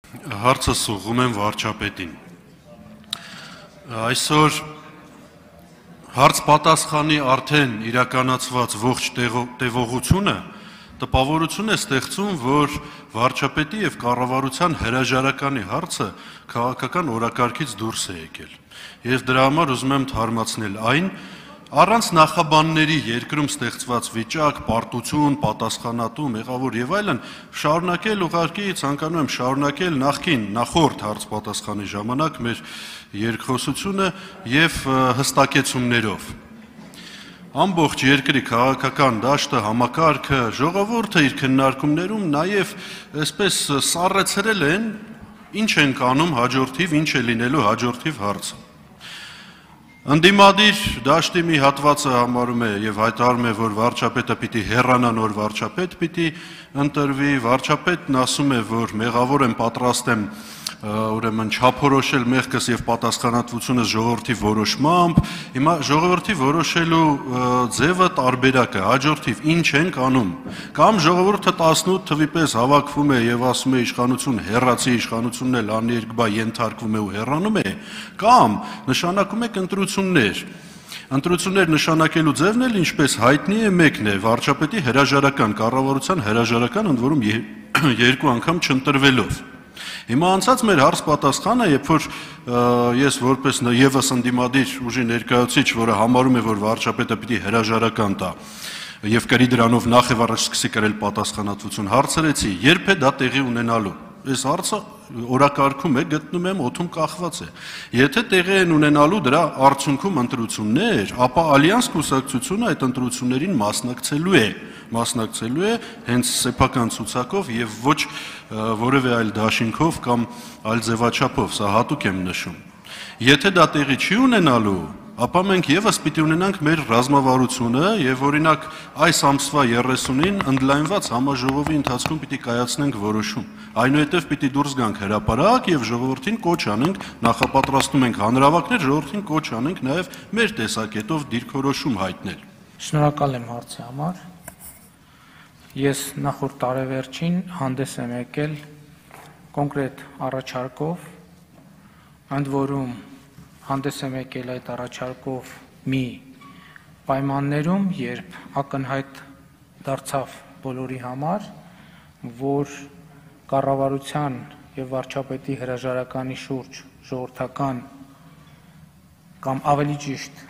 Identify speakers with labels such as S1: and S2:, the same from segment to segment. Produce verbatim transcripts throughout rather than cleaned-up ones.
S1: Հարցս ուղղում եմ վարչապետին։ Այսօր հարց պատասխանի արդեն իրականացված ողջ տևողությունը տպավորություն է ստեղծում, որ վարչապետի եւ կառավարության հրաժարականի հարցը քաղաքական օրակարգից դուրս է եկել։ Ես դրա համար ուզում եմ թարմացնել այն, առանց նախաբանների երկրում ստեղծված վիճակ, պարտություն, պատասխանատու, մեղավոր եւ այլն, շարունակել ուղղակի ցանկանում եմ շարունակել նախքին, նախորդ հարց պատասխանի ժամանակ մեր երկխոսությունը եւ հստակեցումներով։ Ամբողջ երկրի քաղաքական դաշտը, համակարգը, ժողովուրդը իր քննարկումներում նաեւ այսպես սառեցրել են, ինչ են կանում հաջորդիվ, ինչ է լինելու հաջորդիվ հարցը։ Ընդդիմադիր դաշտի մի հատվածը համարում է եւ հայտարարում է, որ վարչապետը պիտի հեռանա, նոր վարչապետ պիտի ընտրվի, վարչապետն ասում է, որ մեղավոր եմ, պատրաստ եմ ուրեմն չափորոշել մեղքս եւ պատասխանատվությունը ժողովրդի որոշմամբ, հիմա ժողովրդի որոշելու ձևը տարբերակ է, հաջորդիվ ինչ ենք անում, կամ ժողովուրդը տասնութ թվի պես հավաքվում է եւ ասում է իշխանություն հեռացի, իշխանությունն էլ աներկբա ենթարկվում է ու հեռանում է, կամ նշանակում է ընտրություններ։ Ընտրություններ նշանակելու ձևն էլ ինչպես հայտնի է մեկն է, վարչապետի հրաժարական, կառավարության հրաժարական, ընդ որում երկու անգամ չընտրվելով։ Հիմա անցած մեր հարց պատասխանը, երբ որ ես որպես եւս ընդդիմադիր ուժի ներկայացուցիչ, որը համարում է, որ վարչապետը պիտի հրաժարական տա եւ կրի դրանով նախ եւ առաջ սկսի կրել պատասխանատվություն, հարցրեցի, երբ է դա տեղի ունենալու։ Այս հարցը օրակարգում է, գտնում եմ օդում կախված է։ Եթե տեղի են ունենալու դրա արդյունքում ընտրություններ, ապա Ալյանս կուսակցությունը այդ ընտրություններին մասնակցելու է, մասնակցելու է հենց սեփական ցուցակով եւ ոչ որևէ այլ դաշինքով կամ այլ ձևաչափով, սա հատուկ եմ նշում։ Եթե դա տեղի չի ունենալու, ապա մենք եւս պիտի ունենանք մեր ռազմավարությունը եւ օրինակ այս ամսվա երեսունին ընդլայնված համաժողովի ընթացքում պիտի կայացնենք որոշում։ Այնուհետև պիտի դուրս գանք հրապարակ եւ ժողովրդին կոչ անենք, նախապատրաստում ենք հանրավակներ, ժողովրդին կոչ անենք նաեւ մեր տեսակետով դիրքորոշում հայտնել։
S2: Շնորհակալ եմ հարցի համար։ Ես նախորդ տարեվերջին հանդես եմ եկել կոնկրետ առաջարկով, ընդ որում հանդես եմ եկել այդ առաջարկով մի պայմաններում, երբ ակնհայտ դարձավ բոլորի համար, որ կառավարության եւ վարչապետի հրաժարականի շուրջ ժողովրդական կամ ավելի ճիշտ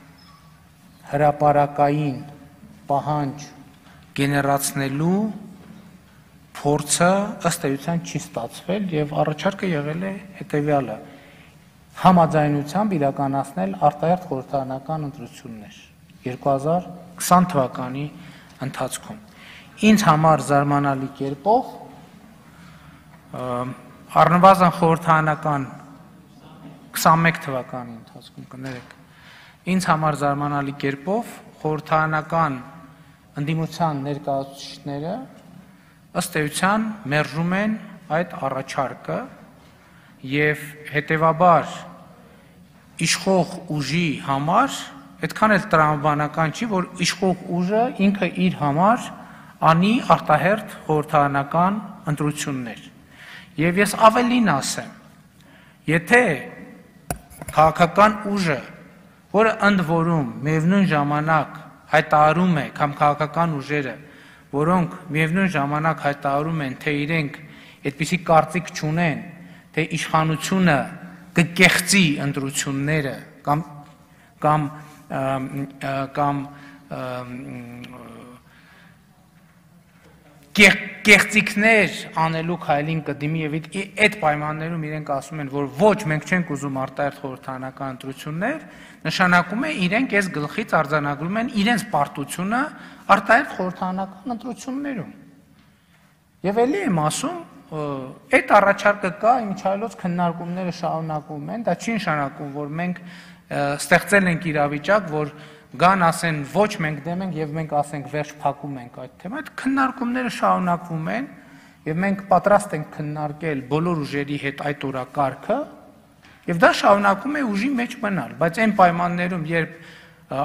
S2: հրապարակային պահանջ գեներացնելու փորձը ըստ էության չի ստացվել եւ առաջարկը եղել է հետեւյալը. համաձայնությամբ իրականացնել արտահերթ խորհրդարանական ընտրություններ երկու հազար քսան թվականի ընթացքում։ Ինձ համար զարմանալի կերպով առնվազն խորհրդարանական քսանմեկ թվականի ընթացքում կներեք, ինձ համար զարմանալի կերպով խորհրդարանական ընդդիմության ներկայացուցիչները ըստ էության մերժում են այդ առաջարկը եւ հետեւաբար իշխող ուժի համար այդքան էլ տրամաբանական չի, որ իշխող ուժը ինքը իր համար անի արտահերթ խորհրդարանական ընտրություններ։ Եվ ես ավելին ասեմ, եթե քաղաքական ուժը, որը ընդ որում միևնույն ժամանակ հայտարարում է կամ քաղաքական ուժերը, որոնք միևնույն ժամանակ հայտարարում են, թե իրենք այդպիսի կարծիք չունեն, թե իշխանությունը կկեղծի ընտրությունները կամ կամ կամ կեղծիքներ անելու քայլին կդիմի եւ այդ պայմաններում իրենք ասում են, որ ոչ, մենք չենք ուզում արտահերթ խորհրդարանական ընտրություններ, նշանակում է իրենք այս գլխից արձանագրում են իրենց պարտությունը արտահերթ խորհրդարանական ընտրություններում։ Եվ ելի եմ ասում, այդ առաջարկը կա, իմիջիայլոց քննարկումները շարունակվում են, դա չի նշանակում, որ մենք ստեղծել ենք իրավիճակ, որ գան ասեն ոչ մենք դեմ ենք եւ մենք ասենք վերջ փակում ենք այդ թեման, այդ քննարկումները շարունակվում են եւ մենք պատրաստ ենք քննարկել բոլոր ուժերի հետ այդ օրակարգը եւ դա շարունակում է ուժի մեջ մնալ, բայց այն պայմաններում, երբ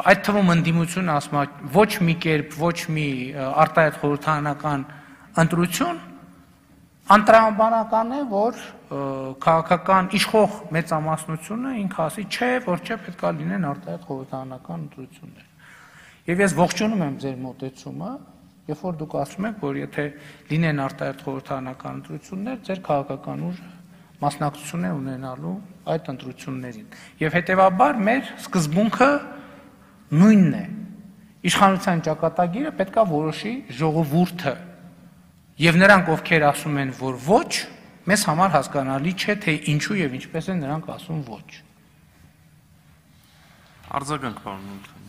S2: այդ թվում ընդդիմությունը ասում է ոչ մի կերպ, ոչ մի արտահայտ խորհրդարանական ընտրություն, Անտրամաբանական է, որ քաղաքական իշխող մեծամասնությունը ինքը ասի, չէ, որ չէ, պետք է լինեն արտահայտ խորհրդարանական ընտրություններ։ Եվ ես ողջունում եմ ձեր մոտեցումը, երբ որ դուք ասում եք, որ եթե լինեն արտահայտ խորհրդարանական ընտրություններ, ձեր քաղաքական ուժը մասնակցություն է ունենալու այդ ընտրություններին։ Եվ հետևաբար մեր սկզբունքը նույնն է։ Իշխանության ճակատագիրը պետք է որոշի ժողովուրդը։ Եվ նրանք, ովքեր ասում են, որ ոչ, մեզ համար հասկանալի չէ, թե ինչու եւ ինչպես են նրանք ասում ոչ։
S3: Արձագանք, պարոն Մոլդանյան։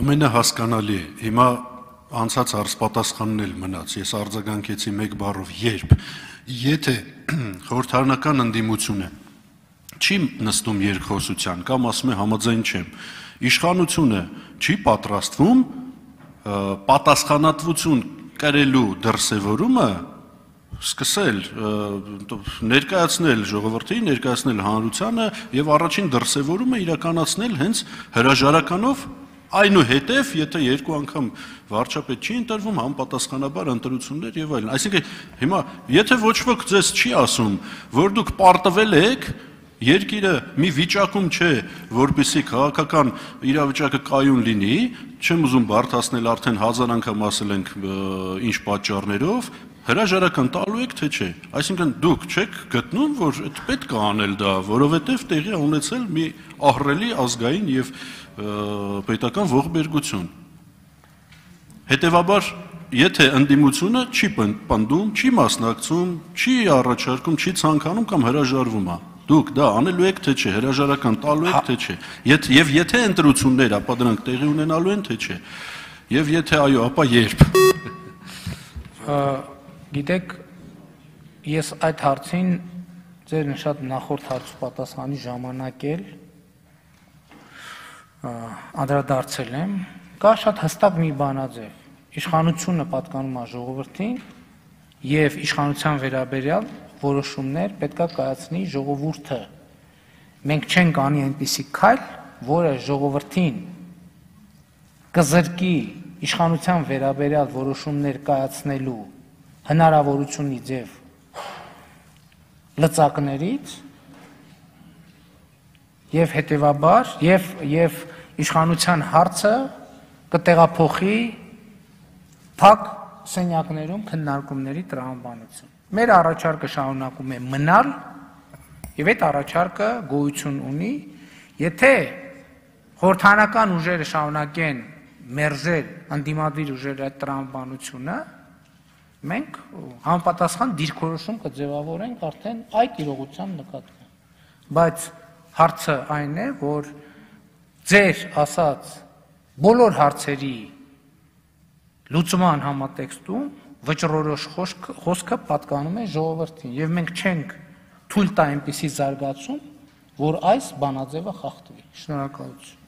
S1: Ամենահասկանալի է։ Հիմա անցած հարց պատասխանն էլ մնաց։ Ես արձագանքեցի մեկ բառով երբ։ Եթե խորհրդարանական ընդդիմությունը չի նստում երկխոսության կամ ասում է համաձայն չեմ, իշխանությունը չի պատրաստվում պատասխանատվություն կրելու դրսևորումը սկսել ներկայացնել ժողովրդին, ներկայացնել հանրությանը եւ առաջին դրսևորումը իրականացնել հենց հրաժարականով, այնուհետև եթե երկու անգամ վարչապետ չի ընտրվում, համապատասխանաբար ընտրություններ եւ այլն։ Այսինքն հիմա եթե ոչ ոք ձեզ չի ասում, որ դուք պարտվել եք, երկիրը մի վիճակում չէ, որպեսզի քաղաքական իրավիճակը կայուն լինի, չեմ ուզում բարդացնել, արդեն հազար անգամ ասել ենք ինչ պատճառներով, հրաժարական տալու եք թե չէ։ Այսինքն դուք չեք գտնում, որ պետք է անել դա, որովհետև տեղի է ունեցել մի ահռելի ազգային եւ պետական ողբերգություն։ Հետևաբար, եթե ընդդիմությունը չի պնդում, չի մասնակցում, չի առաջարկում, չի ցանկանում կամ հրաժարվում է, դուք դա անելու եք թե չէ, հրաժարական տալու եք թե չէ։ Եվ եթե ընտրություններ, ապա դրանք տեղի ունենալու են թե չէ։ Եվ եթե այո, ապա երբ։
S2: Գիտեք, ես այդ հարցին ձեր նշած նախորդ հարցու պատասխանի ժամանակ էլ անդրադարձել եմ, կա շատ հստակ մի բանաձև։ Իշխանությունը պատկանում է ժողովրդին եւ իշխանության վերաբերյալ որոշումներ պետքա կայացնի ժողովուրդը։ Մենք չենք անի այնպիսի քայլ, որը ժողովրդին կզրկի իշխանության վերաբերյալ որոշումներ կայացնելու հնարավորությունի ձև լծակներից եւ հետեւաբար եւ եւ իշխանության հարցը կտեղափոխի փակ սենյակներում քննարկումների տրամաբանություն։ Մեր առաջարկը շարունակում է մնալ եւ այդ առաջարկը գոյություն ունի, եթե խորհրդարանական ուժերը շարունակեն մերժել ընդդիմադիր ուժերի այդ տրամաբանությունը, մենք համապատասխան դիրքորոշում կձևավորենք արդեն այդ իրողության նկատմամբ։ Բայց հարցը այն է, որ ձեր ասած բոլոր հարցերի լուծման համատեքստում վճռորոշ խոսքը պատկանում է ժողովրդին եւ մենք չենք թույլ տա այնպիսի զարգացում, որ այս բանաձևը խախտվի։ Շնորհակալություն։